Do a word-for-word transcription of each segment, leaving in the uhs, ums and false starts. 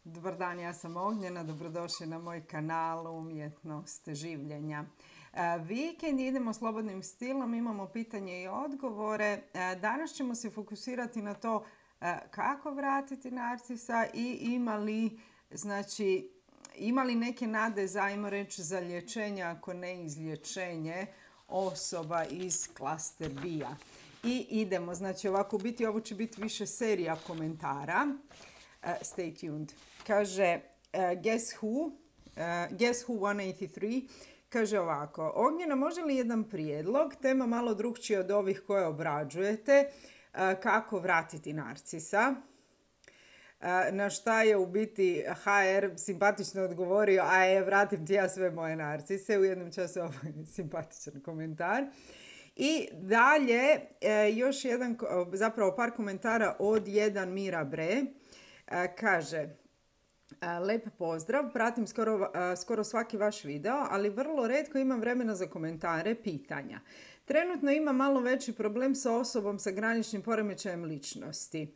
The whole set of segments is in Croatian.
Dobar dan, ja sam Ognjena, dobrodošli na moj kanal Umjetnost življenja. Vikend idemo slobodnim stilom, imamo pitanje i odgovore. Danas ćemo se fokusirati na to kako vratiti narcisa i ima li, znači, ima li neke nade za, ajmo reći, za liječenje, ako ne izlječenje osoba iz klaster B-a. I idemo, znači ovako, biti, ovo će biti više serija komentara. Uh, stay tuned. Kaže, uh, guess who? Uh, guess who sto osamdeset tri? Kaže ovako, Ognjena, može li jedan prijedlog, tema malo drugčija od ovih koje obrađujete, uh, kako vratiti narcisa? Uh, na šta je u biti ha er simpatično odgovorio, a je, vratim ti ja sve moje narcise. U jednom času ovo je simpatičan komentar. I dalje, uh, još jedan, zapravo par komentara od jedan Mira Bre. Kaže, lep pozdrav, pratim skoro, skoro svaki vaš video, ali vrlo retko imam vremena za komentare, pitanja. Trenutno imam malo veći problem sa osobom sa graničnim poremećajem ličnosti.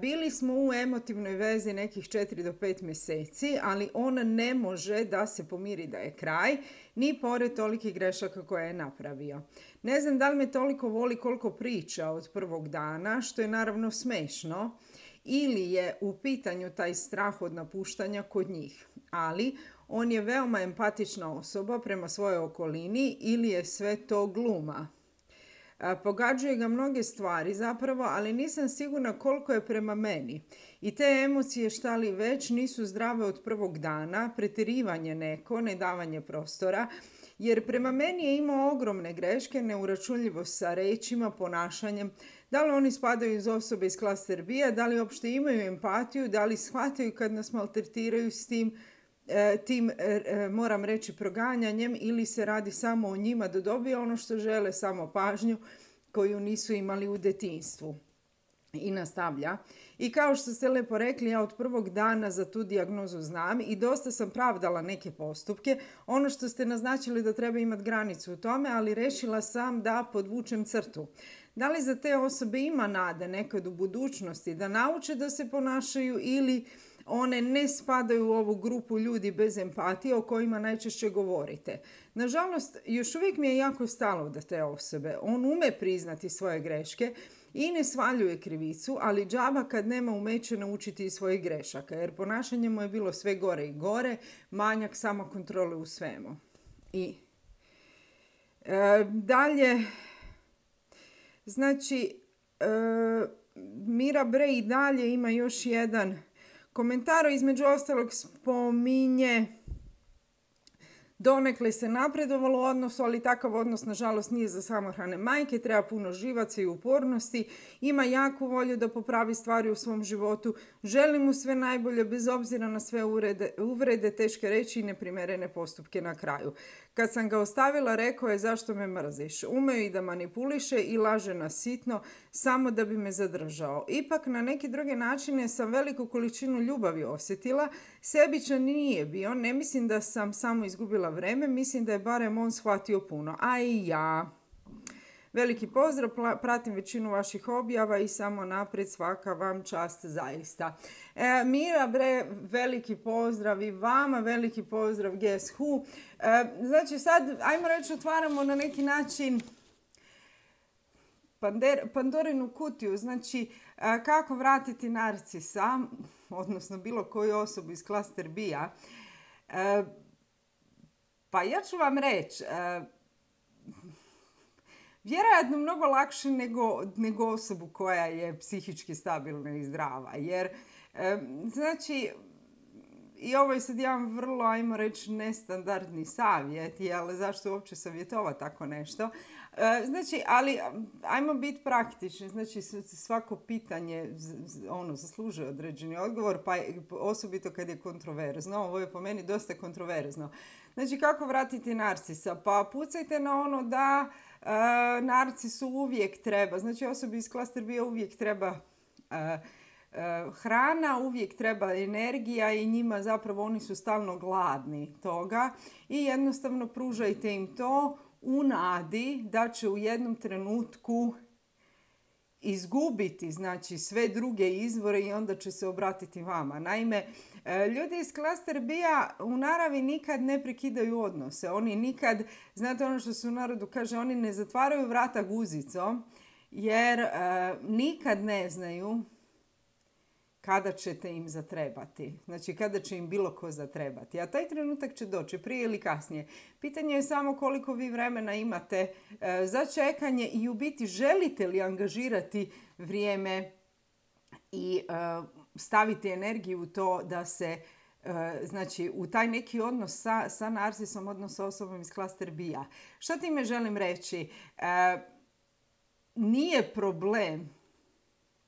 Bili smo u emotivnoj vezi nekih četiri do pet mjeseci, ali on ne može da se pomiri da je kraj, ni pored tolikih grešaka koje je napravio. Ne znam da li me toliko voli koliko priča od prvog dana, što je naravno smešno, ili je u pitanju taj strah od napuštanja kod njih. Ali on je veoma empatična osoba prema svojoj okolini ili je sve to gluma. Pogađaju ga mnoge stvari zapravo, ali nisam sigurna koliko je prema meni. I te emocije, šta li već, nisu zdrave od prvog dana, pretjerivanje neko, nedavanje prostora, jer prema meni je imao ogromne greške, neuračunljivost sa rečima, ponašanjem. Da li oni spadaju iz osobe iz klaster B-a, da li uopšte imaju empatiju, da li shvataju kad nas maltretiraju s tim, tim, moram reći, proganjanjem, ili se radi samo o njima da dobije ono što žele, samo pažnju koju nisu imali u djetinjstvu. I nastavlja. I kao što ste lepo rekli, ja od prvog dana za tu dijagnozu znam i dosta sam pravdala neke postupke. Ono što ste naznačili da treba imati granicu u tome, ali rešila sam da podvučem crtu. Da li za te osobe ima nade nekad u budućnosti da nauče da se ponašaju ili one ne spadaju u ovu grupu ljudi bez empatije o kojima najčešće govorite? Nažalost, još uvijek mi je jako stalo da te osobe. On ume priznati svoje greške i ne svaljuje krivicu, ali džaba kad nema umeće naučiti iz svojih grešaka, jer ponašanje mu je bilo sve gore i gore, manjak samokontrole u svemu. I e, dalje, znači, e, Mira Bre i dalje ima još jedan komentar, između ostalog spominje donekle se napredovalo u odnosu, ali takav odnos nažalost nije za samohrane majke, treba puno živaca i upornosti, ima jaku volju da popravi stvari u svom životu, želim mu sve najbolje bez obzira na sve uvrede, uvrede teške reči i neprimjerene postupke na kraju. Kad sam ga ostavila, rekao je zašto me mrziš. Umeo i da manipuliše i laže nas sitno samo da bi me zadržao. Ipak na neke druge načine sam veliku količinu ljubavi osjetila, sebičan nije bio, ne mislim da sam samo izgubila vreme, mislim da je barem on shvatio puno. A i ja. Veliki pozdrav, pratim većinu vaših objava i samo naprijed, svaka vam čast zaista. E, Mira Bre, veliki pozdrav i vama, veliki pozdrav Guess Who. E, znači sad, ajmo reći, otvaramo na neki način Pander, Pandorinu kutiju, znači e, kako vratiti narcisa, odnosno bilo koju osobu iz klaster B-a. E, pa ja ću vam reći, e, vjerojatno mnogo lakše nego, nego osobu koja je psihički stabilna i zdrava. Jer, e, znači, i ovo je sad jedan vrlo, ajmo reći, nestandardni savjet, jel, zašto uopće savjetovati tako nešto. E, znači, ali ajmo biti praktični, znači svako pitanje ono, zaslužuje određeni odgovor, pa osobito kad je kontroverzno. Ovo je po meni dosta kontroverzno. Znači, kako vratiti narcisa? Pa pucajte na ono da e, narcisu uvijek treba, znači osobi iz klaster B uvijek treba e, hrana, uvijek treba energija i njima zapravo oni su stalno gladni toga i jednostavno pružajte im to u nadi da će u jednom trenutku izgubiti znači sve druge izvore i onda će se obratiti vama. Naime, ljudi iz klaster B-a u naravi nikad ne prekidaju odnose. Oni nikad, znate ono što se u narodu kaže, oni ne zatvaraju vrata guzicom jer e, nikad ne znaju kada ćete im zatrebati. Znači kada će im bilo ko zatrebati. A taj trenutak će doći prije ili kasnije. Pitanje je samo koliko vi vremena imate e, za čekanje i u biti želite li angažirati vrijeme i e, staviti energiju u to da se e, znači u taj neki odnos sa, sa narcisom, odnos sa osobom iz klaster B-a. Što time želim reći? E, nije problem,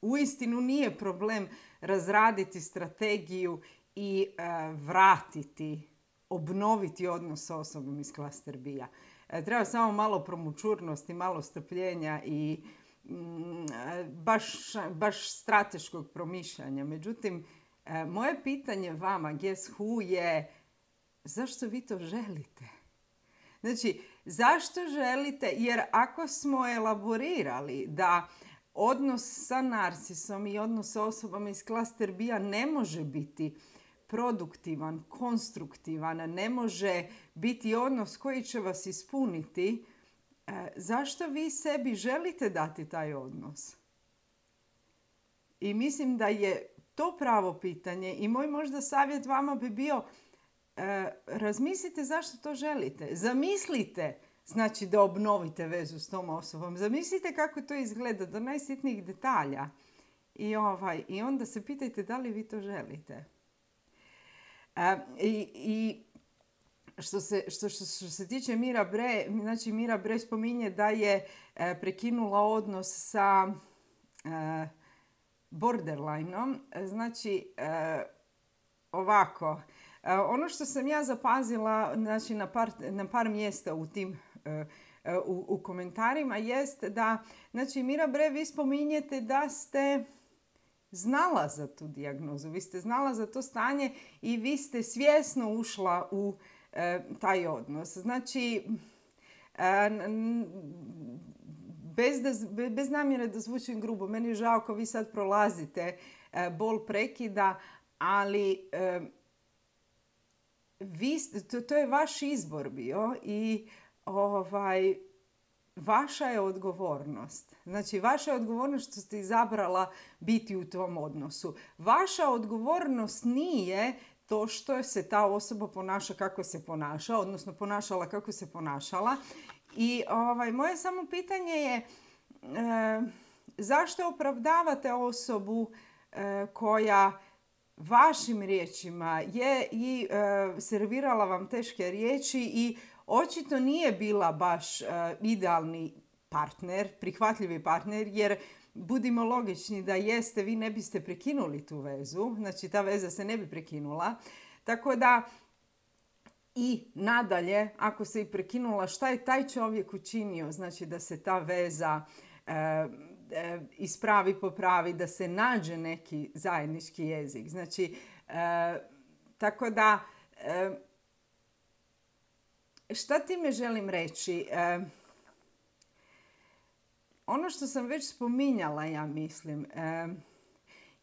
uistinu nije problem razraditi strategiju i e, vratiti, obnoviti odnos sa osobom iz klaster B-a. E, treba samo malo promućurnosti, malo strpljenja i mm, baš, baš strateškog promišljanja. Međutim, e, moje pitanje vama, guess who, je zašto vi to želite? Znači, zašto želite? Jer ako smo elaborirali da odnos sa narcisom i odnos sa osobama iz klaster B-a ne može biti produktivan, konstruktivan, ne može biti odnos koji će vas ispuniti, e, zašto vi sebi želite dati taj odnos? I mislim da je to pravo pitanje i moj možda savjet vama bi bio e, razmislite zašto to želite. Zamislite znači da obnovite vezu s tom osobom. Zamislite kako to izgleda do najsitnijih detalja. I, ovaj, i onda se pitajte da li vi to želite. E, I i što, se, što, što, što se tiče Mira Bre, znači Mira Bre spominje da je e, prekinula odnos sa e, borderlineom. Znači, e, ovako, e, ono što sam ja zapazila znači, na, par, na par mjesta u tim U, u komentarima jest da, znači Mira Bre, vi spominjete da ste znala za tu dijagnozu, vi ste znala za to stanje i vi ste svjesno ušla u e, taj odnos. Znači, e, bez, da, bez namjere da zvučim grubo, meni je žao ako vi sad prolazite e, bol prekida, ali e, vi, to, to je vaš izbor bio i Ovaj, vaša je odgovornost. Znači, vaša je odgovornost što ste izabrala biti u tom odnosu. Vaša odgovornost nije to što se ta osoba ponaša kako se ponaša, odnosno ponašala kako se ponašala. I ovaj, moje samo pitanje je e, zašto opravdavate osobu e, koja vašim riječima je i e, servirala vam teške riječi i očito nije bila baš uh, idealni partner, prihvatljivi partner, jer budimo logični da jeste, vi ne biste prekinuli tu vezu, znači ta veza se ne bi prekinula. Tako da i nadalje, ako se i prekinula, šta je taj čovjek učinio, znači da se ta veza uh, uh, ispravi, popravi, da se nađe neki zajednički jezik. Znači, uh, tako da uh, šta time želim reći? E, ono što sam već spominjala, ja mislim, e,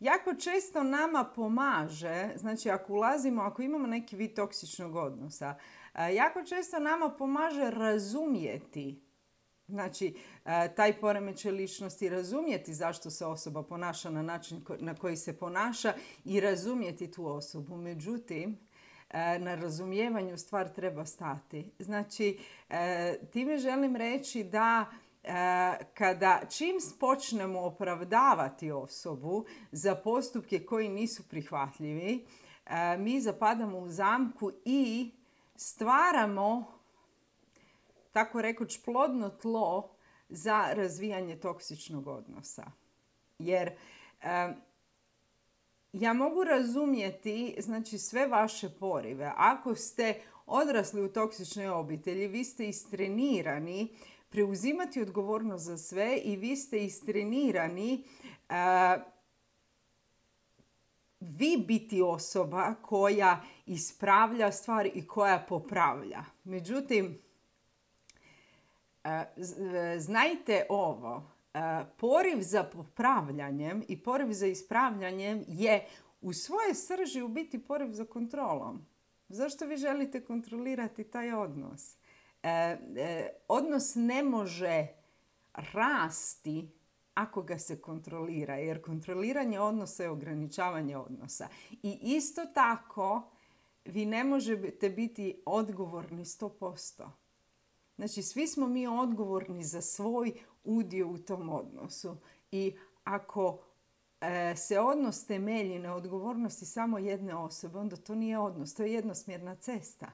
jako često nama pomaže, znači ako ulazimo, ako imamo neki vid toksičnog odnosa, e, jako često nama pomaže razumjeti, znači e, taj poremećaj ličnosti, razumjeti zašto se osoba ponaša na način ko, na koji se ponaša i razumjeti tu osobu. Međutim, na razumijevanju stvar treba stati. Znači, time želim reći da kada čim počnemo opravdavati osobu za postupke koji nisu prihvatljivi, mi zapadamo u zamku i stvaramo, tako rekuć, plodno tlo za razvijanje toksičnog odnosa. Jer ja mogu razumjeti, znači, sve vaše porive. Ako ste odrasli u toksičnoj obitelji, vi ste istrenirani preuzimati odgovornost za sve i vi ste istrenirani uh, vi biti osoba koja ispravlja stvari i koja popravlja. Međutim, uh, znajte ovo. poriv za popravljanjem i poriv za ispravljanjem je u svojoj srži u biti poriv za kontrolom. Zašto vi želite kontrolirati taj odnos? E, e, odnos ne može rasti ako ga se kontrolira, jer kontroliranje odnosa je ograničavanje odnosa. I isto tako vi ne možete biti odgovorni sto posto. Znači, svi smo mi odgovorni za svoj udio u tom odnosu. I ako e, se odnos temelji na odgovornosti samo jedne osobe, onda to nije odnos, to je jednosmjerna cesta.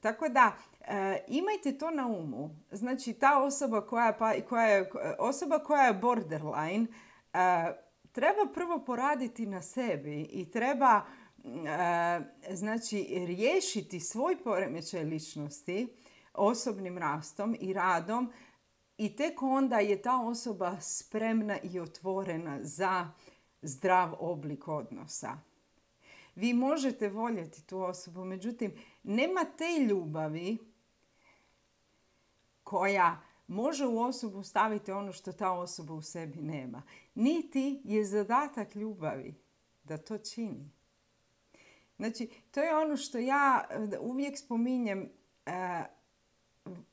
Tako da, e, imajte to na umu. Znači, ta osoba koja, pa, koja je, osoba koja je borderline, e, treba prvo poraditi na sebi i treba e, znači, riješiti svoj poremećaj ličnosti osobnim rastom i radom i tek onda je ta osoba spremna i otvorena za zdrav oblik odnosa. Vi možete voljeti tu osobu, međutim, nema te ljubavi koja može u osobu staviti ono što ta osoba u sebi nema. Niti je zadatak ljubavi da to čini. Znači, to je ono što ja uvijek spominjem. E,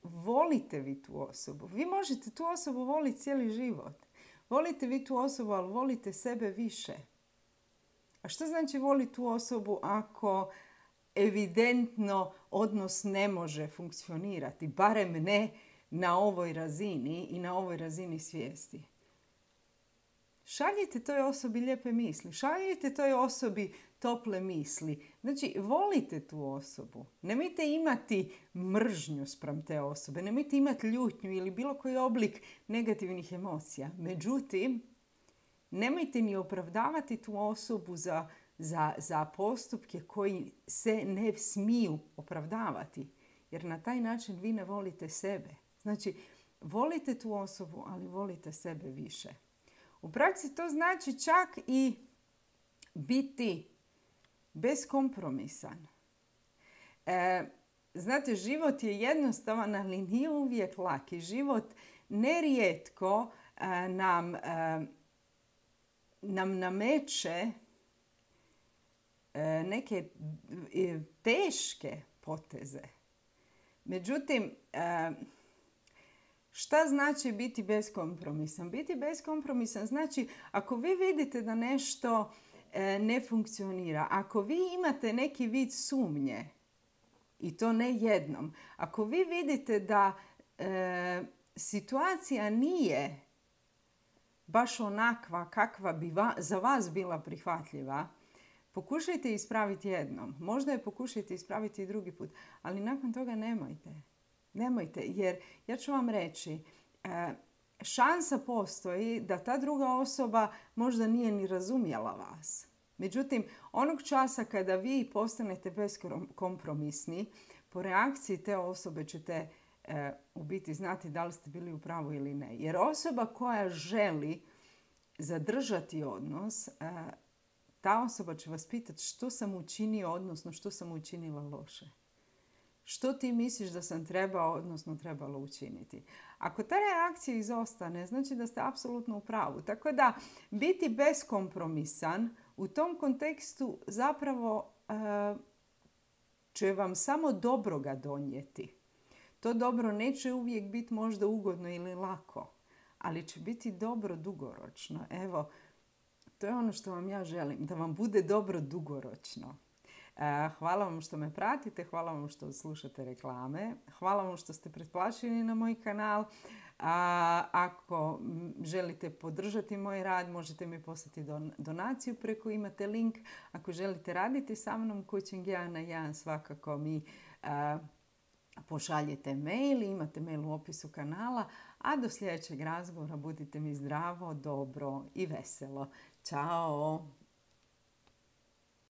volite vi tu osobu. Vi možete tu osobu voliti cijeli život. Volite vi tu osobu, ali volite sebe više. A što znači voliti tu osobu ako evidentno odnos ne može funkcionirati? Barem ne na ovoj razini i na ovoj razini svijesti. Šaljite toj osobi lijepe misli. Šaljite toj osobi tople misli. Znači, volite tu osobu. Nemojte imati mržnju spram te osobe. Nemojte imati ljutnju ili bilo koji oblik negativnih emocija. Međutim, nemojte ni opravdavati tu osobu za, za, za postupke koji se ne smiju opravdavati. Jer na taj način vi ne volite sebe. Znači, volite tu osobu, ali volite sebe više. U praksi to znači čak i biti beskompromisan. E, znate, život je jednostavan, ali nije uvijek laki. Život nerijetko e, nam, e, nam nameće e, neke e, teške poteze. Međutim, e, šta znači biti beskompromisan? Biti beskompromisan znači ako vi vidite da nešto e, ne funkcionira, ako vi imate neki vid sumnje, i to ne jednom, ako vi vidite da e, situacija nije baš onakva kakva bi va, za vas bila prihvatljiva, pokušajte ispraviti jednom. Možda je pokušajte ispraviti i drugi put, ali nakon toga nemojte. Nemojte, jer ja ću vam reći, šansa postoji da ta druga osoba možda nije ni razumjela vas. Međutim, onog časa kada vi postanete beskompromisni, po reakciji te osobe ćete u biti znati da li ste bili u pravu ili ne. Jer osoba koja želi zadržati odnos, ta osoba će vas pitati što sam učinio, odnosno što sam učinila loše. Što ti misliš da sam trebao, odnosno trebalo učiniti? Ako ta reakcija izostane, znači da ste apsolutno u pravu. Tako da biti beskompromisan u tom kontekstu zapravo uh, će vam samo dobroga donijeti. To dobro neće uvijek biti možda ugodno ili lako, ali će biti dobro dugoročno. Evo, to je ono što vam ja želim, da vam bude dobro dugoročno. Hvala vam što me pratite, hvala vam što slušate reklame, hvala vam što ste pretplaćeni na moj kanal. A, ako želite podržati moj rad, možete mi poslati don, donaciju preko, imate link. Ako želite raditi sa mnom coaching jedan na jedan, svakako mi a, pošaljete mail, imate mail u opisu kanala. A do sljedećeg razgovora budite mi zdravo, dobro i veselo. Ćao!